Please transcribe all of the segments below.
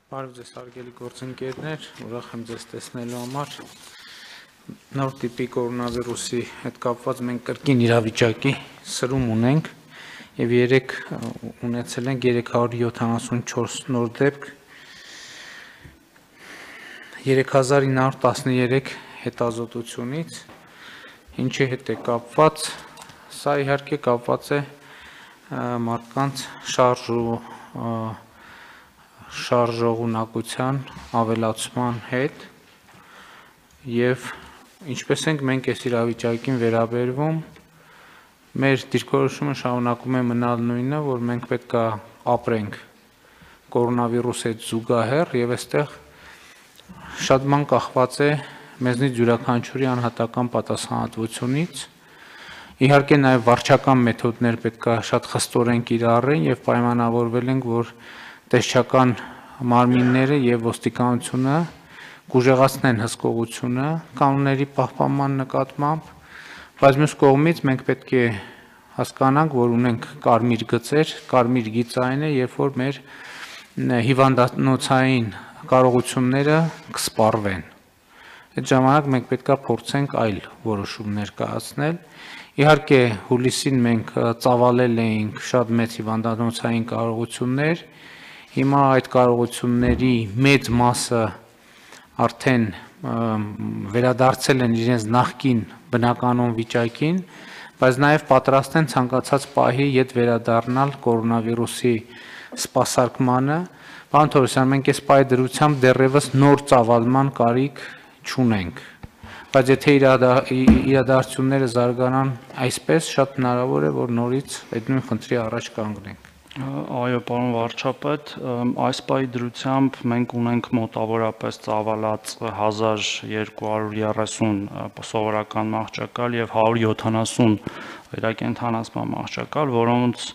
Բարև ձեզ հարգելի գործընկերներ, ուրախ եմ ձեզ տեսնելու համար։ Նոր տիպի կորոնավիրուսի հետ կապված մենք կրկին իրավիճակի սրում ունենք եւ երեք ունեցել ենք 374 նոր դեպք, 3913 հետազոտությունից, ինչի հետ է կապված, սա իհարկե կապված է մարդկանց շարժողունակության ավելացման հետ եւ ինչպես ենք մենք այս իրավիճակին վերաբերվում, մեր դիրքորոշումը շարունակում է մնալ նույնը, որ մենք պետք է ապրենք կորոնավիրուսի հետ զուգահեռ եւ այստեղ շատ բան կախված է մեզնից յուրաքանչյուրի անհատական պատասխանատվությունից։ Իհարկե նաեւ վարչական մեթոդներ պետք է շատ խստորեն կիրառեն եւ պայմանավորվել ենք, որ տեսչական մարմինները եւ ոստիկանությունը կուժեղացնեն հսկողությունը կանոնների պահպանման նկատմամբ, բայց մյուս կողմից մենք պետք է հասկանանք, որ ունենք կարմիր գծեր, կարմիր գիծային է, երբ որ մեր հիվանդանոցային կարողությունները կսպառվեն։ Այդ ժամանակ մենք պետք է փորձենք այլ որոշումներ կայացնել։ Իհարկե հուլիսին մենք ծավալել էինք շատ մեծ հիվանդանոցային կարողություններ, հիմա այդ կարողությունների մեծ մասը արդեն վերադարձել են իրենց նախկին բնականon վիճակին, բայց նաև պատրաստ են ցանկացած պահի յետ վերադառնալ կորոնավիրուսի սպասարկմանը։ Պարոն Թորոսյան, մենք այս պահի դրությամբ դեռևս նոր ծավալման կարիք չունենք, բայց եթե իրադարձությունները զարգանան այսպես, շատ հնարավոր է, որ նորից այդ նույն խնդրի առաջ կանգնենք։ Այո, պարոն վարչապետ, այս պահի դրությամբ մենք ունենք մոտավորապես ծավալած 1230 սովորական մահճակալ եւ 170 վերակենդանացման մահճակալ, որոնց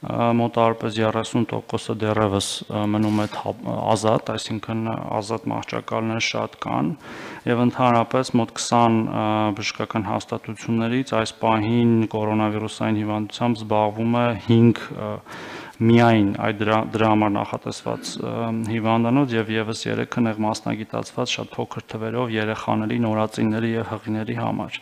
մոտավորապես 30%-ը դեռևս մնում է ազատ, այսինքն ազատ մահճակալներ շատ կան եւ ընդհանրապես մոտ 20 բժշկական հաստատություններից այս պահին կորոնավիրուսային հիվանդությամբ զբաղվում է 5 միայն այդ դրա համար նախատեսված հիվանդանոց եւ եւս 3-ը նեղ մասնագիտացված շատ փոքր թվերով երեխաների, նորածինների եւ հղիների համար։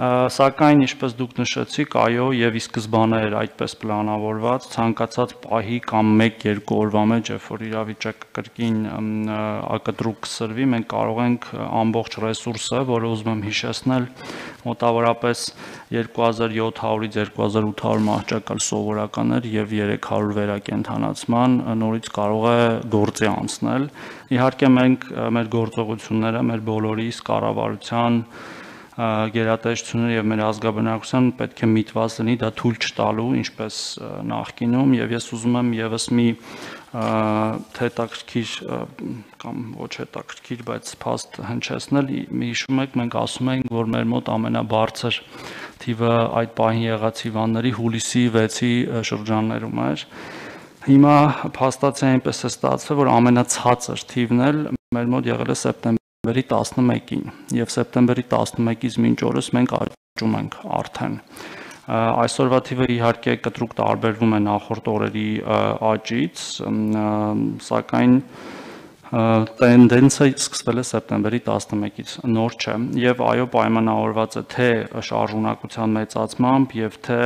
Սակայն, ինչպես դուք նշեցիք, այո, եւ ի սկզբանե էր այդպես պլանավորված, ցանկացած պահի կամ 1-2 օրվա մեջ, երբ որ իրավիճակը կրկին ակտրուկ կսրվի, մենք կարող ենք ամբողջ ռեսուրսը, որը ուզում եմ հիշեցնել, մոտավորապես 2700-ից 2800 մահճակալ սովորականներ եւ 300 վերակենդանացման նորից կարող է գործի անցնել։ Իհարկե մենք մեր գործողությունները, մեր բոլորիս կառավարության գերատեսչությունները եւ մեր ազգաբնակության պետք է միտված լինի դա թույլ չտալու, ինչպես նախկինում, եւ ես ուզում եմ եւս մի հետաքրքիր կամ ոչ հետաքրքիր, բայց փաստ հնչեցնել։ Հիշում եք, մենք ասում ենք, որ մեր մոտ ամենաբարձր թիվը այդ պահին եղած հիվանդների հուլիսի 6-ի շրջաններում էր։ Հիմա փաստացի այնպես է ստացվել, որ ամենացածր թիվն էլ մեր մոտ եղել է սեպտեմբերի 11-ին եւ սեպտեմբերի 11-ից մինչ օրս մենք աճում ենք արդեն։ Այսօրվա թիվը իհարկե կտրուկ տարբերվում է նախորդ օրերի աճից, սակայն տենդենսը սկսվել է սեպտեմբերի 11-ից, նոր չէ եւ այո պայմանավորված է թե շարժունակության մեծացմամբ եւ թե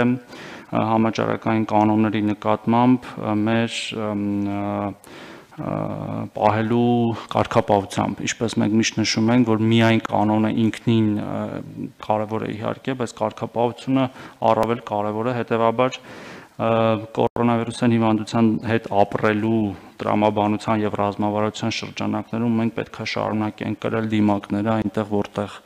համաճարակային կանոնների նկատմամբ մեր պահելու կարգապահությամբ, ինչպես մենք միշտ նշում ենք, որ միայն կանոնը ինքնին կարևոր է իհարկե, բայց կարգապահությունը առավել կարևոր է, հետեւաբար կորոնավիրուսային հիվանդության հետ ապրելու տրամաբանության եւ ռազմավարության շրջանակներում մենք պետք է շարունակենք կրել դիմակները այնտեղ, որտեղ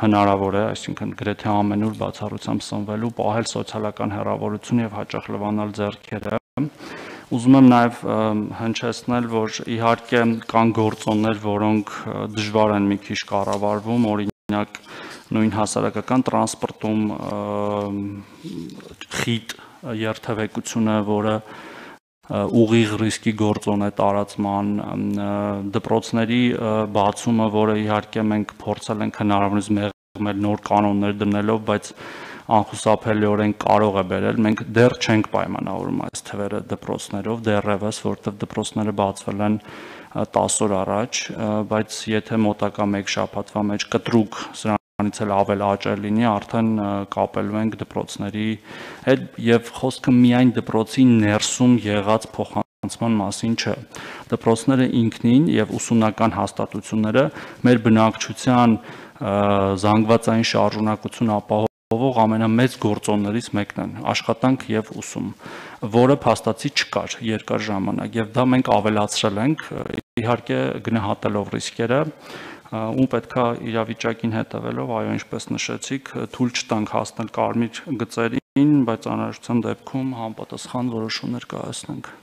հնարավոր է, այսինքն գրեթե ամենուր բացառությամբ սնվելու, պահել սոցիալական հեռավորություն եւ հաճախ լվանալ ձեռքերը։ Ուզում եմ նաև հնչեցնել, որ իհարկե կան գործոններ, որոնք դժվար են մի քիչ կառավարվում, օրինակ նույն հասարակական տրանսպորտում խիտ երթևեկությունը, որը ուղիղ ռիսկի գործոն է տարածման, դպրոցների բացումը, որը իհարկե մենք փորձել ենք հնարավորինս մեղմել նոր կանոններ դնելով, բայց անխուսափելիորեն կարող է բերել, մենք դեռ չենք պայմանավորում այս թվերը դպրոցներով, դեռևս, որտեղ դպրոցները բացվել են 10 օր առաջ, բայց եթե մոտակա 1 շաբաթվա մեջ կտրուկ սրանից էլ ավել աճել լինի, արդեն կապելու ենք դպրոցների հետ եւ խոսքը միայն դպրոցի ներսում եղած փոխանցման մասին չէ։ Դպրոցները ինքնին եւ ուսումնական հաստատությունները մեր բնակչության զանգվածային շարժունակություն ապահովող ամենամեծ գործոններից մեկն են, աշխատանք եւ ուսում, որը փաստացի չկար երկար ժամանակ եւ դա մենք ավելացրել ենք, իհարկե գնահատելով ռիսկերը, ու պետքա իրավիճակին հետևելով, այո, ինչպես նշեցիք, թույլ չտանք հասնել կարմիր գծերին, բայց անհրաժեշտության դեպքում համապատասխան որոշումներ կայացնենք։